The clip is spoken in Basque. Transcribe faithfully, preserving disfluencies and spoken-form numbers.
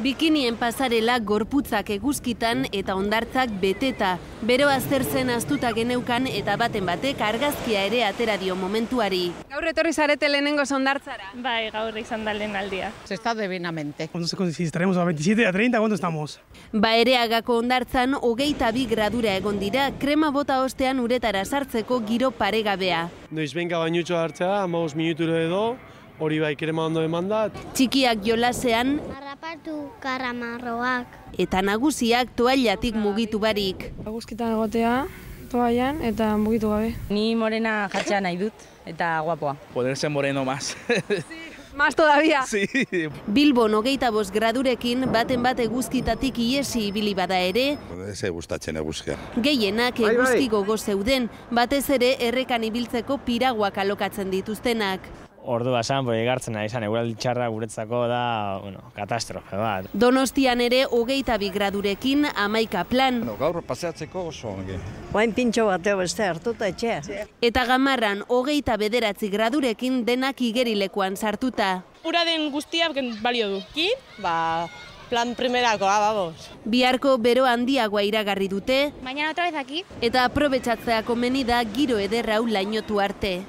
Bikinien pasarela gorputzak eguzkitan eta hondartzak beteta. Bero aztertzen astuta geneukan eta baten batek argazkia ere atera dio momentuari. Gaur etorri zarete lehenengo hondartzara. Bai, gaur izan da lehen aldia. Se está divinamente. No sé si estaremos a veintisiete, a treinta, ¿cuándo estamos? Baereagako hondartzan hogeita bi gradura egon dira, krema bota ostean uretara sartzeko giro paregabea. Noiz benka bainutxo hartzea, hamabost minutura edo, hori bai krema ondo emandat. Txikiak jolasean, harrapatu karamarroak. eta nagusiak toallatik mugitu barik. Eguzkitan egotea, toallan eta mugitu gabe. Ni morena jartzea nahi dut, eta guapoa. Ponerse moreno más. Más todavía? Sí. Bilbon hogeita bost gradurekin baten bat eguzkitatik iesi ibili bada ere, Ez gustatzen eguzkia. gehienak eguzki gogo zeuden, batez ere errekan ibiltzeko piraguak alokatzen dituztenak. Ordu basan, boi egartzen ari izan, eguraldi txarra guretzako da, bueno, katastrofe bat. Donostian ere hogeita bi gradurekin hamaika plan. No, gaur paseatzeko oso ongi. Oain pintxo bateo beste hartuta etxea. Eta Gamarran hogeita bederatzi gradurekin denak igerilekuan sartuta. Ura den guztia balio du. Ki? Ba, plan primerakoa, babos. Biharko bero handiagoa iragarri dute, Mañana otra vez aquí. eta aprobetxatzea komeni da giro ederra hau lainotu arte.